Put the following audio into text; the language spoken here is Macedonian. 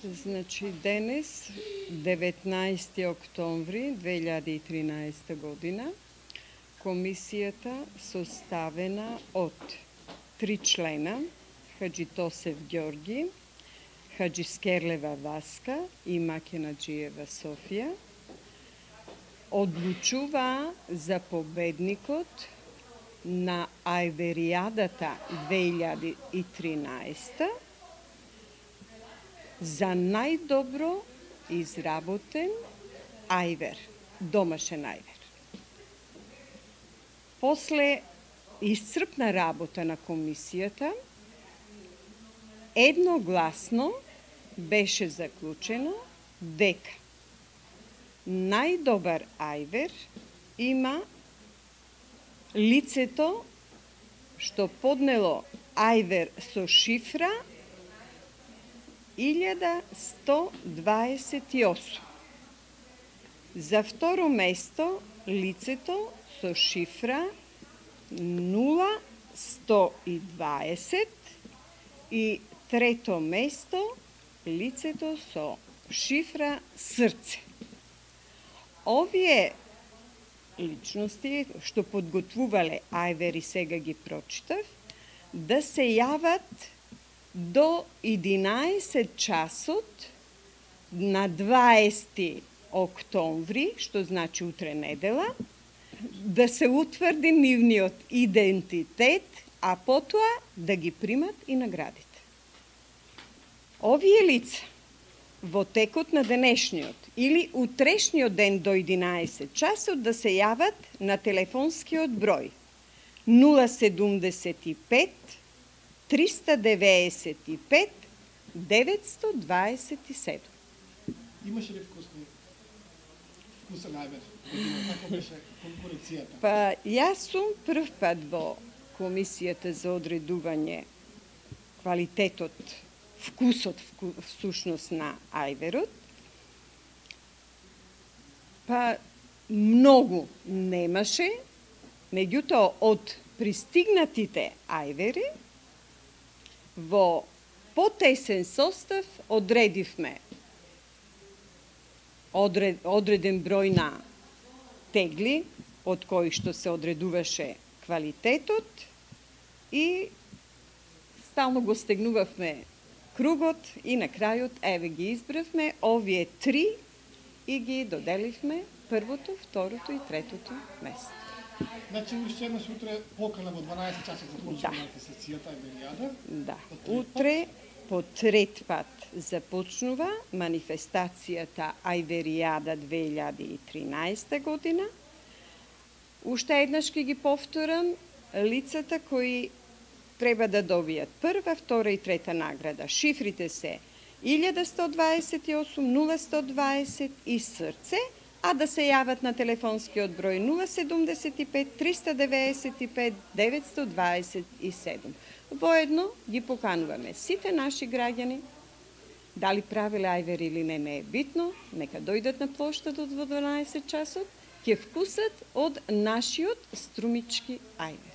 Значи, денес, 19 октомври 2013 година, комисијата составена од 3 члена, Хаджи Тосев Ѓорги, Хаджи Скерлева Васка и Макенаджиева Софија, одлучува за победникот на Ајверијадата 2013 за најдобро изработен ајвер, домашен ајвер. После исцрпна работа на комисијата, едногласно беше заклучено дека најдобар ајвер има лицето што поднело ајвер со шифра 1128. За второ место лицето со шифра 0120 и трето место лицето со шифра срце. Овие личности што подготвувале ајвери, сега ги прочитав, да се јават до 11 часот на 20 октомври, што значи утре недела, да се утврди нивниот идентитет, а потоа да ги примат и наградите. Овие лица во текот на денешниот или утрешниот ден до 11 часот да се јават на телефонскиот број 075 395 927. Имаше ли вкусен ајвер? Како беше конкуренцијата? Па, јас сум прв пат во комисијата за одредување квалитетот, вкусот всушност на ајверот. Па, многу немаше, меѓутоа од пристигнатите ајвери во потесен состав одредивме одреден број на тегли, од кои што се одредуваше квалитетот и стално го стегнувавме кругот и на крајот еве ги избравме овие 3 и ги доделивме првото, второто и третото место. Значи, уште еднаш утре покана во 12 часот започна манифестацијата Ајверијада? Да. Утре по трет пат започнува манифестацијата Ајверијада 2013 година. Уште еднаш ќе ги повторам лицата кои треба да добијат прва, втора и трета награда. Шифрите се 1128, 0120 и срце, а да се јават на телефонскиот број 075 395 927. Воедно ги покануваме сите наши граѓани, дали правиле ајвер или не е битно, нека дојдат на плоштадот во 12 часот, ќе вкусат од нашиот струмички ајвер.